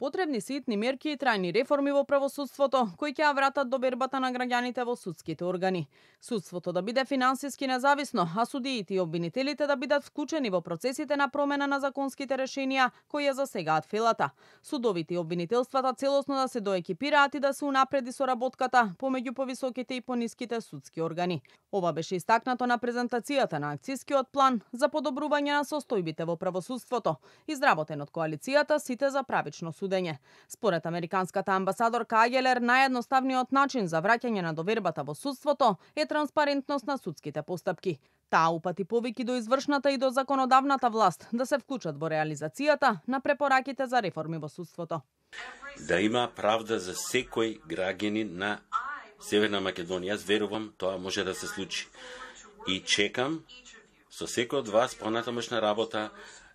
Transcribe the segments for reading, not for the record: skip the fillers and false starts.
Потребни се итни мерки и трајни реформи во правосудството, кои ќе ја вратат довербата на граѓаните во судските органи. Судството да биде финансиски независно, а судиите и обвинителите да бидат вклучени во процесите на промена на законските решенија кои ја засегаат фелата. Судовите и обвинителствата целосно да се доекипираат и да се унапреди соработката помеѓу повисоките и пониските судски органи. Ова беше истакнато на презентацијата на акцискиот план за подобрување на состојбите во правосудството, изработен од коалицијата Сите за правично судење. Според американската амбасадорка Агелер, наједноставниот начин за враќање на довербата во судството е транспарентност на судските постапки. Таа упати повики до извршната и до законодавната власт да се вклучат во реализацијата на препораките за реформи во судството. Да има правда за секој граѓанин на Северна Македонија. Јас верувам тоа може да се случи. И чекам со секој од вас понатамошна работа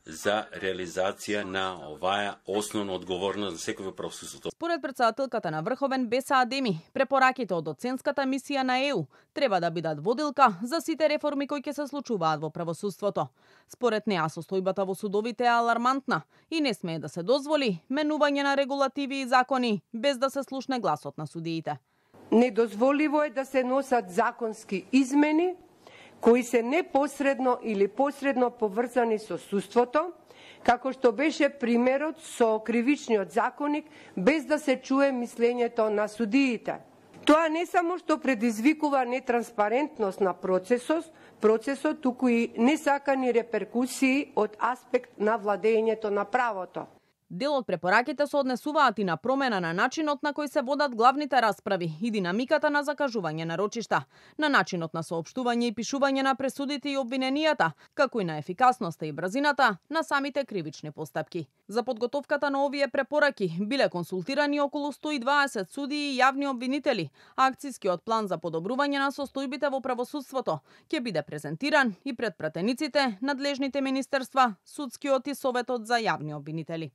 за реализација на оваа основна одговорност на секој во правосудството. Според претседателката на Врховен Беса Адеми, препораките од оценската мисија на ЕУ треба да бидат водилка за сите реформи кои ќе се случуваат во правосудството. Според неа состојбата во судовите е алармантна и не смее да се дозволи менување на регулативи и закони без да се слушне гласот на судиите. Недозволиво е да се носат законски измени кои се непосредно или посредно поврзани со судството, како што беше примерот со кривичниот законник, без да се чуе мислењето на судиите. Тоа не само што предизвикува нетранспарентност на процесот, туку и несакани реперкусии од аспект на владењето на правото. Дел од препораките се однесуваат и на промена на начинот на кој се водат главните расправи и динамиката на закажување на рочишта, на начинот на соопштување и пишување на пресудите и обвиненијата, како и на ефикасноста и брзината на самите кривични постапки. За подготовката на овие препораки биле консултирани околу 120 судии и јавни обвинители, а акцискиот план за подобрување на состојбите во правосудството ќе биде презентиран и пред пратениците, надлежните министерства, судскиот и Советот за јавни обвинители.